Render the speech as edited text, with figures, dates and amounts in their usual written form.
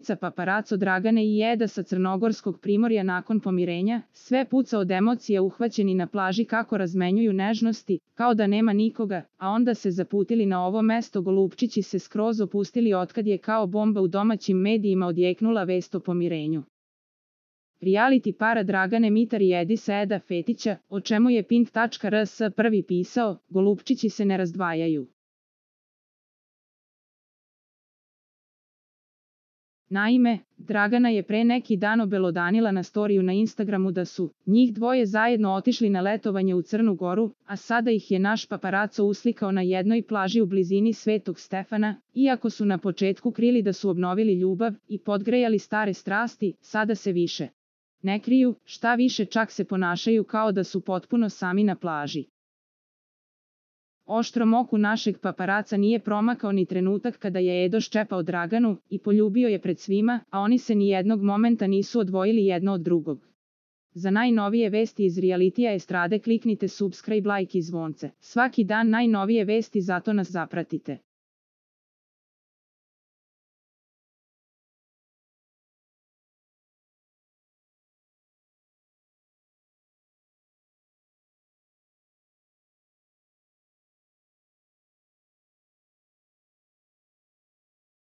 ulica paparaco Dragane i Eda sa crnogorskog primorja nakon pomirenja, sve puca od emocija uhvaćeni na plaži kako razmenjuju nežnosti, kao da nema nikoga, a onda se zaputili na ovo mesto golupčići se skroz opustili otkad je kao bomba u domaćim medijima odjeknula vest o pomirenju. Reality para Dragane Mitar i Edisa Eda Fetića, o čemu je Pink.rs prvi pisao, golupčići se ne razdvajaju. Naime, Dragana je pre neki dan obelodanila na storiju na Instagramu da su njih dvoje zajedno otišli na letovanje u Crnu Goru, a sada ih je naš paparaco uslikao na jednoj plaži u blizini Svetog Stefana, iako su na početku krili da su obnovili ljubav i podgrejali stare strasti, sada se više ne kriju, šta više čak se ponašaju kao da su potpuno sami na plaži. Oštrom oku našeg paparaca nije promakao ni trenutak kada je Edo ščepao Draganu i poljubio je pred svima, a oni se ni jednog momenta nisu odvojili jedno od drugog. Za najnovije vesti iz realitija estrade kliknite subscribe, like i zvonce. Svaki dan najnovije vesti, zato nas zapratite.